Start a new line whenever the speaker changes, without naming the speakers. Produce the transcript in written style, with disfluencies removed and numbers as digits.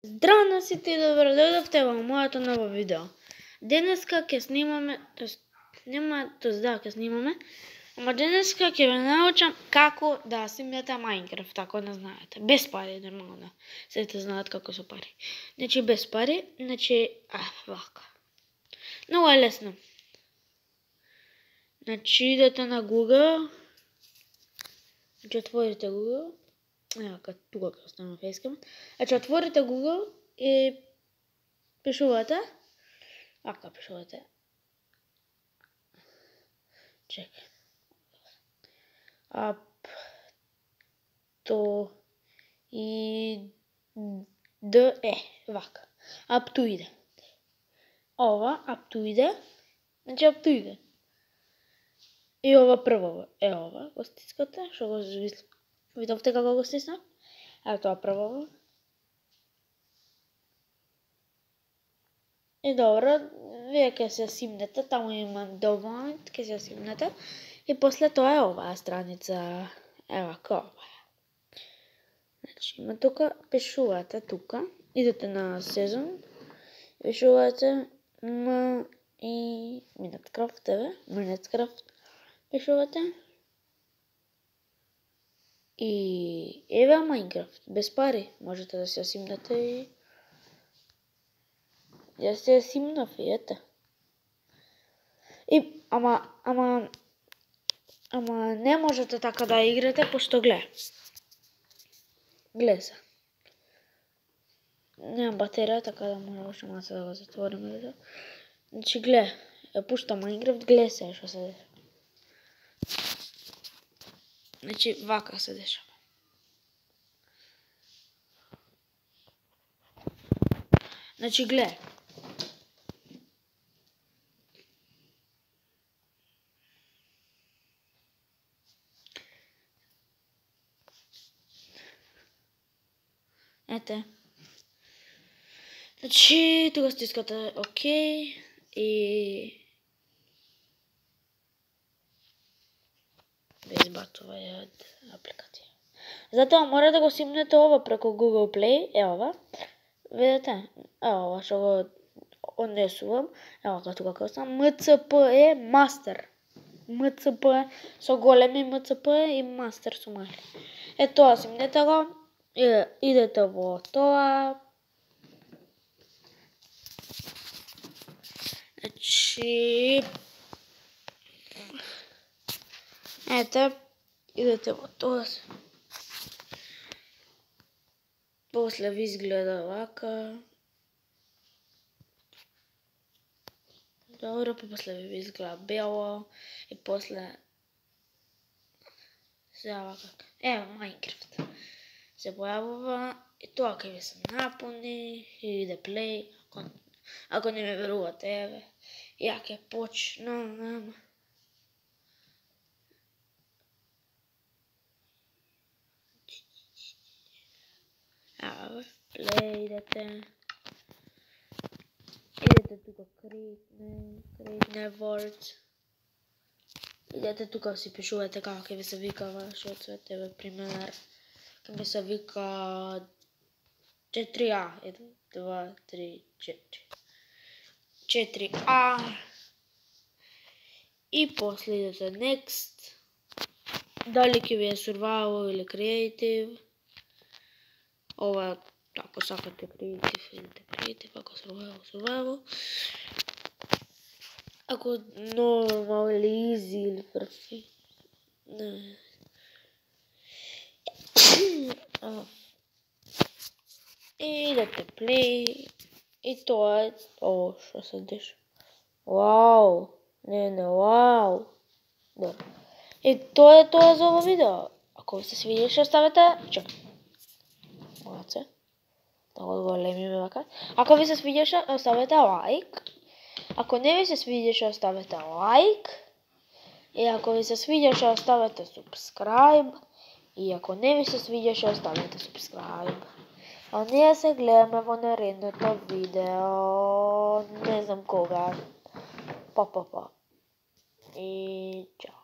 Здраво на сите и добро дојдовте во моето ново видео. Денеска ќе снимаме, ќе снимаме, ама денеска ќе ве научам како да симнете Minecraft, ако не знаете. Без пари, нормално. Сите знаат како со пари. Значи без пари, вака. Много е лесно. Значи идете на Google. Значи отворите Google. Ева, тука ќе оставам фейскам. Значи отворите Google и пишувате. Вака пишувате. Чекај. Вака. Аптоиде. Ова аптоиде. Значи аптоиде. И ова прво е ова, го стискате, што го видовте како го стиснав? Ево тоа прво. И добро, вие ќе се симнете, таму има доволно, ќе се симнете. И после тоа е оваа страница, ева ова. Значи има тука, пишувате тука, идете на сезон, пишувате Minecraft, пишувате. И еве Minecraft, без пари, можете да се симнете и ја се симнав и ете. И ама не можете така да играте, пошто гле се. Немам батерија, така да може уште малку да го затвориме. Значи гле, ја пуштам Minecraft, гле се што се дешава. Значи вака се дешава. Значи гле. Ете. Значи тука стискате ОК и избацува ја од апликација. Затоа мора да го симнете ова преку Google Play, е ова. Видете? Ево ова што го однесувам. Ево како тука како сам MCPE Master. MCPE со големи MCPE и Master со мали. Е тоа симнете го. Идете во тоа. Значи ете, идете во тоа. После ви изгледа вака. Добро, после ви изгледа бело и после се вака. Ево Minecraft. Се појавува и тоа ќе ви се напуни и иде play. Ако не ме верувате, еве, ја ќе почнам. Ево, play идете. Идете тука create words. Идете тука си пишувате како ќе ви се викава, што цвет, еве пример. Ќе ми се вика 4А. 1, 2, 3, 4. 4А. И после идете next. Дали ќе ви е survival или creative. Ова, ако сакате creative, идете creative, ако survival. Ако normal или easy или perfect. Не. И идете play. И тоа е ово што се деша. Вау! Вау! Добро. И тоа е тоа за ово видео. Ако ви се свидеше, оставете... Молодце. Да го големиме вака. Ако ви се свидеше, оставете лайк. Ако не ви се свидеше, оставете лайк. И ако ви се свидеше, оставете subscribe. И ако не ви се свидеше, оставете subscribe. А ние се гледаме во наредното видео. Не знам кога. Па. И чао.